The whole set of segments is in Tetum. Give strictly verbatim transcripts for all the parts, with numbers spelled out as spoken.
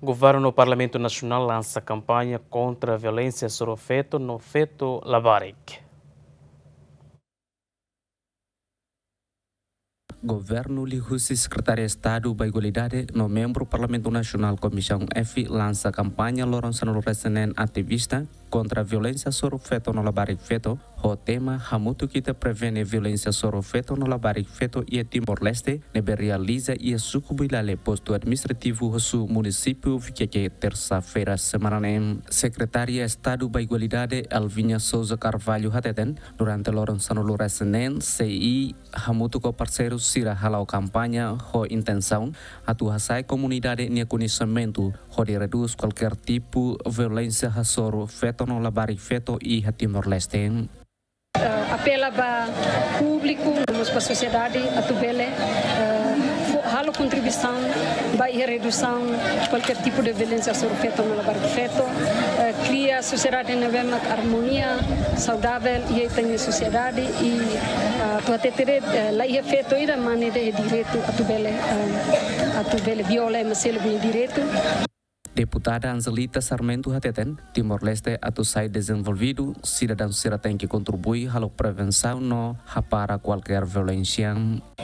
Governu no Parlamentu Nasionál lansa kampaña kontra violénsia hasoru feto no feto labarik. Governu liuhusi Sekretáriu Estadu ba Igualdade no membru Parlamentu Nasionál Komisaun F lansa kampaña loron sanulu-resin-neen ativista kontra violénsia hasoru feto no labarik feto, ho tema Hamutuk ita prevene violénsia hasoru feto no labarik feto iha Timor-Leste, ne'ebé realiza iha Suku Builale, Postu Administrativu Hussu, Munisípiu Vikeke, tersa-feira semana ne'e. Sekretária Estadu ba Igualdade, Elvinha Sousa Carvalho, hateten, durante loron sanulu-resin-neen, sei hamutuk ho parseiru sira hala'o kampaña ho intensaun atu hasa'e komunidade nia koñesimentu hodi redús kualkér tipu violénsia hasoru feto no labarik feto iha Timor-Leste. Eh, apela ba públiku, no mós ba sosiedade, atu bele, eh, fo-, halo kontribuisaun ba iha redusaun kualkér tipu de violénsia hasoru feto no labarik feto, eh, kria sosiedade ne'ebé mak armonia, saudavel iha ita-nia sosiedade i, ah, atu hatete de'it, eh, la iha feto ida mane de'it direitu atu bele, eh, atu bele viola ema seluk nia direitu. Deputada Angelita Sarmento hateten, Timor-Leste atu sai dezenvolvidu, sidadaun sira tenke kontribui halo prevensaun no hapara kualkér violénsia.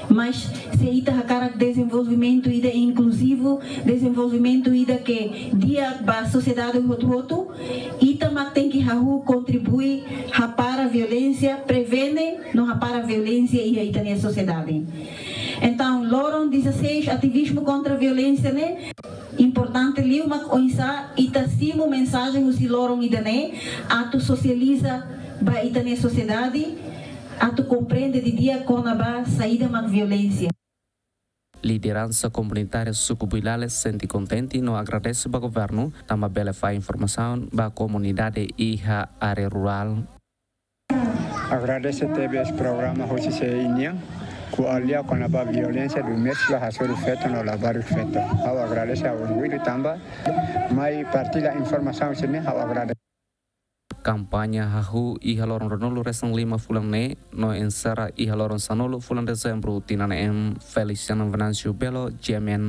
Mas se ita hakarak dezenvolvimentu ida inkluzivu, dezenvolvimentu ida ke di'ak ba sosiedade hotu-hotu, ita mak tenke hahú kontribui hapara violénsia, prevene no hapara violénsia iha ita-nia sosiedade. Entaun, loron dezasseis, ativismu kontra violénsia ne'e, importante liu mak oinsá ita simu mensajen husi loron ida-ne'e, atu sosializa ba ita-nia sosiedade, atu komprende didi'ak kona-ba saida mak violénsia. Lideransa komunitária Suku Builale sente kontente no agradese ba governu, tanba bele fó informasaun ba komunidade iha área rurál. Agradese tebes programa husi C I nian, ko'alia kona-ba violénsia doméstika hasoru feto no labarik feto. Ha'u agradese, ha'u orgullu tanba mai partilla informasaun sira-ne'e, ha'u agradese. Kampaña hahú iha loron ruanulu-resin-lima fulan ne'e, no enserra iha loron sanulu fulan Dezembru tinan ne'e. Feliciano Venâncio Belo, G M N.